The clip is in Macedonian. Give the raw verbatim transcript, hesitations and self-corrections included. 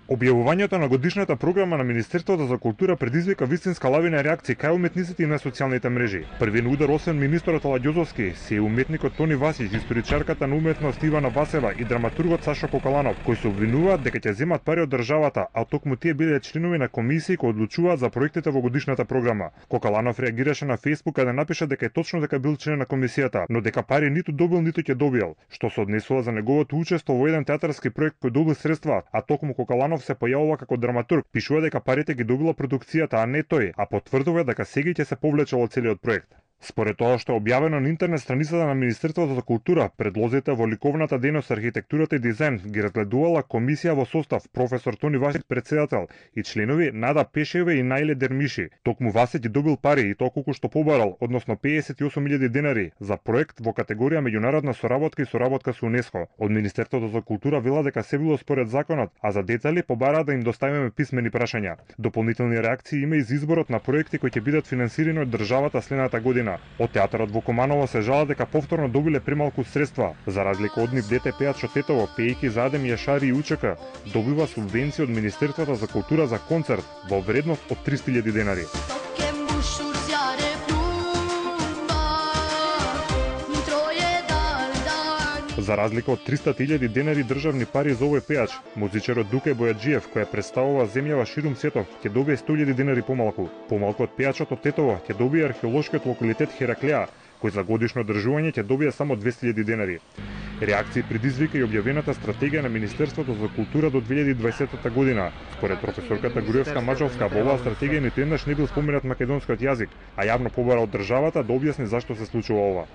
Објавувањето на годишната програма на Министерството за култура предизвика вистинска лавина реакции кај уметниците и на социјалните мрежи. Првиот удар, освен министерот Аладјозовски, се и уметникот Тони Васиќ, историчарката на уметност Ивана Васева и драматургот Сашо Кокаланов, кои се обвинуваат дека ќе земат пари од државата, а токму тие биле членови на комисии кои одлучуваат за проектите во годишната програма. Кокаланов реагираше на Фејсбук каде напиша дека е точно дека бил член на комисијата, но дека пари ниту добил, ниту ќе добил, што се однесува за неговото учество во еден театарски проект кој добил средства, а токму Кокаланов се појавува како драматург, пишува дека парите ги добила продукцијата, а не тој, а потврдува дека сега ќе се повлече од целиот проект. Според тоа што е објавено на интернет страницата на Министерството за култура, предлозите во ликовната дејност, архитектурата и дизајн ги разгледувала комисија во состав професор Тони Васиќ председател и членови Нада Пешеве и Наиле Дермиши. Токму Васиќ ги добил пари и тоа колку што побарал, односно педесет и осум илјади денари за проект во категорија меѓународна соработка и соработка со УНЕСКО. Од Министерството за култура вела дека се било според законот, а за детали побараа да им доставиме писмени прашања. Дополнителни реакции има и за изборот на проекти кои ќе бидат финансирани од државата следната година. Од театарот во Команово се жала дека повторно добиле премалку средства. За разлика од нив, дете пеат Тетово, пејки за Адем Јашари и Учека, добива субвенција од Министерството за култура за концерт во вредност од триста илјади денари. За разлика од триста илјади денари државни пари за овој пеач, музичарот Дуке Бојаджиев, која представува земјава ширум светот, ќе добие сто илјади денари помалку. Помалку од пеачот од Тетово ќе добие археолошкиот локалитет Хераклеа, кој за годишно одржување ќе добие само двесте илјади денари. Реакции предизвика и објавената стратегија на Министерството за култура до две илјади и дваесета година. Според професорката Груевска-Маџалска, во оваа стратегија ниту еднаш не бил споменат македонскиот јазик, а јавно побара од државата да објасни зашто се случува ова.